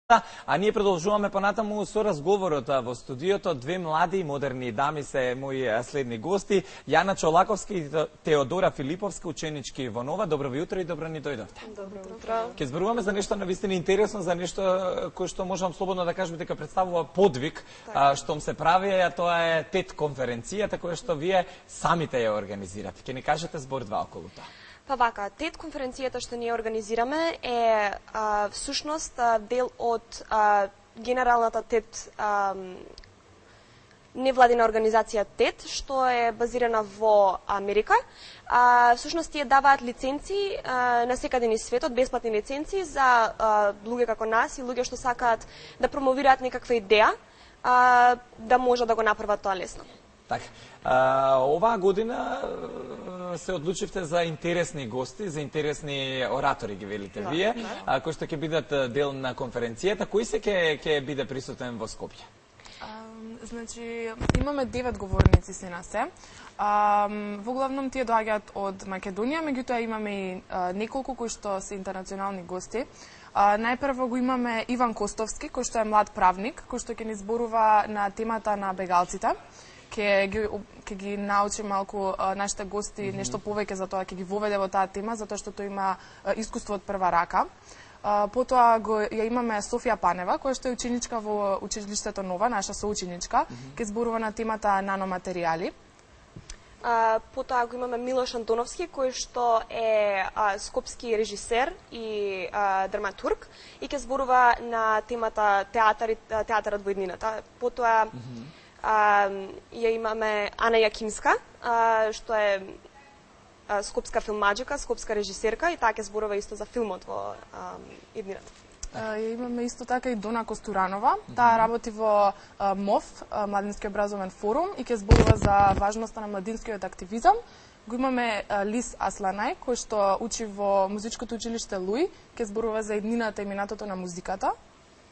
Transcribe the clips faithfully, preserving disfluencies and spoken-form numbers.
А ние продолжуваме понатаму со разговорот во студиото. Две млади и модерни дами се мои следни гости. Јана Чолаковски и Теодора Филиповска, ученички во Нова. Добро ви утро и добро ни дојдовте. Добро утро. Ке зборуваме за нешто навистина интересно, за нешто кој што можам слободно да кажам дека представува подвиг, а, што се прави, а тоа е ТЕД конференцијата која што вие самите ја организирате. Ке ни кажете збор два околу тоа. Па вака, ТЕД конференцијата што ние организираме е а, всушност а, дел од а, генералната ТЕД а, невладина организација ТЕД, што е базирана во Америка. А, всушност тие даваат лиценци а, на секаде низ светот, бесплатни лиценци за а, луѓе како нас и луѓе што сакаат да промовираат некаква идеја, а, да може да го направат тоа лесно. Така. А, оваа година се одлучивте за интересни гости, за интересни оратори, ги велите да, вие, да. А, кои што ќе бидат дел на конференцијата. Кој се ќе ќе биде присутен во Скопје? А, значи, имаме девет говорници се на се. А, во главном тие доаѓаат од Македонија, меѓутоа имаме и а, неколку кои што се интернационални гости. А, најпрво го имаме Иван Костовски, кој што е млад правник, кој што ќе ни зборува на темата на бегалците. Ке ги, ке ги научи малку а, нашите гости mm -hmm. нешто повеќе за тоа, ќе ги воведе во таа тема, затоа што тој има а, искуство од прва рака. А, потоа го ја имаме Софија Панева, која што е ученичка во училиштето Нова, наша соученичка, mm -hmm. ке зборува на темата наноматеријали. А, потоа го имаме Милош Антоновски, кој што е а, скопски режисер и а, драматург и ке зборува на темата театар, театарот во иднината. Потоа mm -hmm. А, ја имаме Ана Јакимска, а, што е а, скопска филмаџика, скопска режисерка и таа ќе зборува исто за филмот во а, иднината. Ја имаме исто така и Дона Костуранова. Таа работи во а, МОФ, а, Младински образовен форум, и ќе зборува за важноста на младинскиот активизам. Го имаме а, Лис Асланај, кој што учи во музичкото училиште Луи, ќе зборува за иднината и минатото на музиката.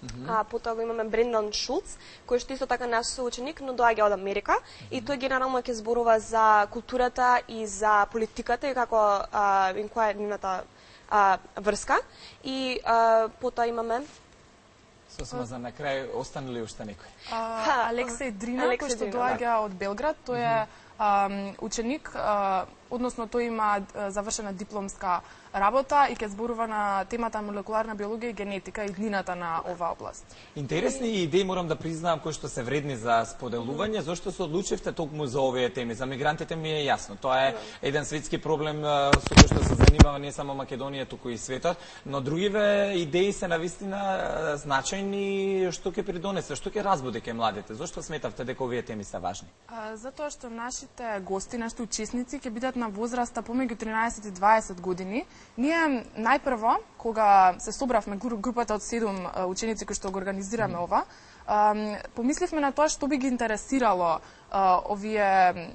Mm -hmm. А потоа го имаме Брендан Шулц, кој што исто така наш соученик, но доаѓа од Америка, mm -hmm. и тој генерално ќе зборува за културата и за политиката и како а, и која е нивната а, врска. И а, потоа имаме Сосема за на крај, останали уште некој? А, Алексеј Дрина, кој што доаѓа од Белград, тој е а, ученик, а, односно тој има а, завршена дипломска работа и ќе зборува на темата молекуларна биологија и генетика и иднината на оваа област. Интересни идеи, морам да признавам, кои што се вредни за споделување. Зошто се одлучивте токму за овие теми? За мигрантите ми е јасно. Тоа е еден светски проблем со кој што се занимава не само Македонија, туку и светот, но другиве идеи се навистина значајни. Што ќе придонесе, што ќе разбуди кај младите? Зошто сметавте дека овие теми се важни? А, затоа што нашите гости, нашите учесници ќе бидат на возраста помеѓу тринаесет и дваесет години. Ние најпрво, кога се собравме групата од седум ученици кои што го организираме mm. ова, помисливме на тоа што би ги интересирало овие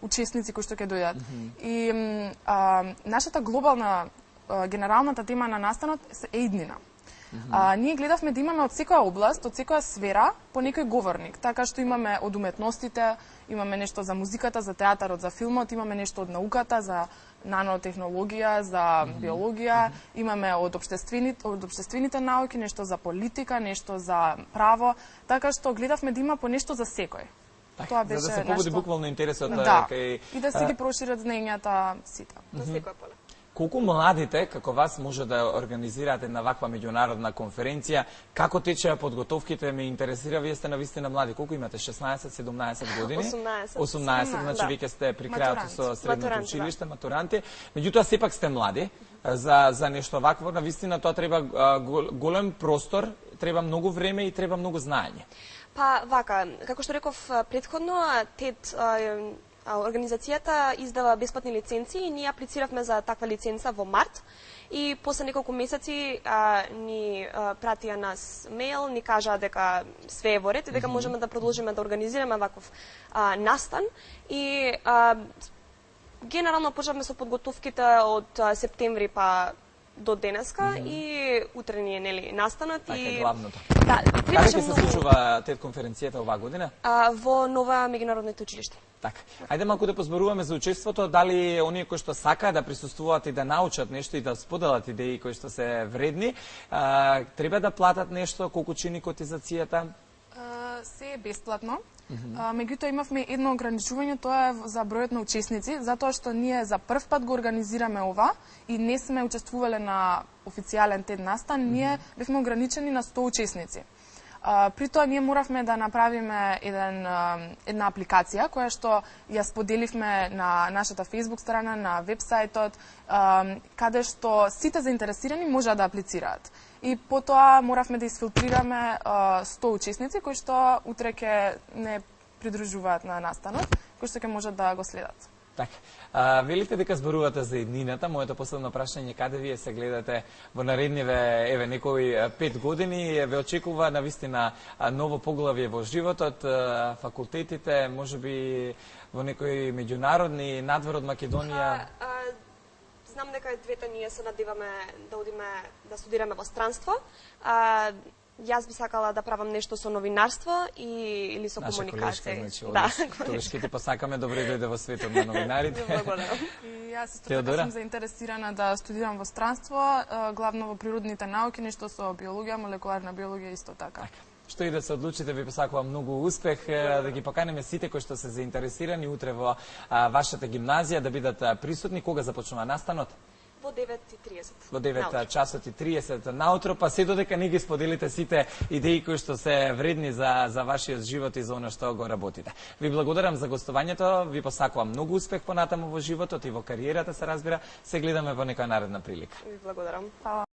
учесници кои што ќе дојдат. Mm -hmm. И а, нашата глобална, генералната тема на настанот е иднина. Mm -hmm. А, ние гледавме да имаме од секоја област, од секоја сфера, по некој говорник. Така што имаме од уметностите, имаме нешто за музиката, за театарот, за филмот, имаме нешто од науката, за нанотехнологија, за mm -hmm. биологија, mm -hmm. имаме од општествените, од општествените науки, нешто за политика, нешто за право, така што гледавме да има по нешто за секој. Так, тоа беше за да се побуди нешто буквално интересот да, кај и да се ги прошират знаењата сите. На mm -hmm. секој поле. Колку младите, како вас, може да организираат една ваква меѓународна конференција? Како течеа подготовките? Ме интересира, вие сте навистина млади. Колку имате? шеснаесет седумнаесет години? осумнаесет. осумнаесет, значи да. Вие сте при крајот со средното матуранти, училиште, да. Матуранти. Меѓутоа, сепак сте млади. За, за нешто вакво, навистина, тоа треба голем простор, треба многу време и треба многу знаење. Па, вака, како што реков претходно, ТЕД организацијата издава бесплатни лиценци и ние аплициравме за таква лиценца во март и после неколку месеци а, ни а, пратија нас мејл, ни кажаа дека све е во ред и дека можеме да продолжиме да организираме ваков а, настан и а, генерално почнавме со подготовките од а, септември па до денеска mm -hmm. и утре ни е нели настанот така, и главното. Да, каде ќе се случува тет конференцијата оваа година? А, во Нова меѓународните училиште. Така. Ајде малку да позборуваме за учеството, дали оние кои што сакаат да присуствуваат и да научат нешто и да споделат идеи кои што се вредни, а, треба да платат нешто, колку чини котизацијата? А, се е бесплатно. Mm -hmm. Меѓутоа имавме едно ограничување, тоа е за бројот на учесници, затоа што ние за прв пат го организираме ова и не сме учествувале на официјален тед настан, mm -hmm. ние бевме ограничени на сто учесници. Uh, при тоа ние моравме да направиме еден, uh, една апликација која што ја споделивме на нашата Facebook страна, на вебсајтот, uh, каде што сите заинтересирани можат да аплицираат. И потоа моравме да изфилтрираме uh, сто учесници кои што утре ќе не придружуваат на настанот, кои што ќе можат да го следат. Така. А, велите дека зборувате за иднината. Моето последно прашање, каде вие се гледате во наредниве, еве, некои пет години? Ве очекува навистина ново поглавје во животот, факултетите, можеби во некои меѓународни, надвор од Македонија? А, а, знам дека двете ние се надеваме да одиме да студираме во странство. А, Јас би сакала да правам нешто со новинарство и или со наша комуникација. Значи, да, тогаш ќе ти посакаме добре дојде во светот на новинарите. Благодарам. И јас исто така сум заинтересирана да студирам во странство, главно во природните науки, нешто со биологија, молекуларна биологија исто така. Така. Што и да се одлучите, ви посакувам многу успех, да ги поканеме сите кои што се заинтересирани утре во а, вашата гимназија да бидат присутни. Кога започнува настанот? Во девет и триесет. Во девет часот и триесет наутро, па се додека не ги споделите сите идеи кои што се вредни за, за вашиот живот и за оно што го работите. Ви благодарам за гостувањето, ви посакувам многу успех понатаму во животот и во кариерата, се разбира. Се гледаме во некоја наредна прилика. Ви благодарам. Фала.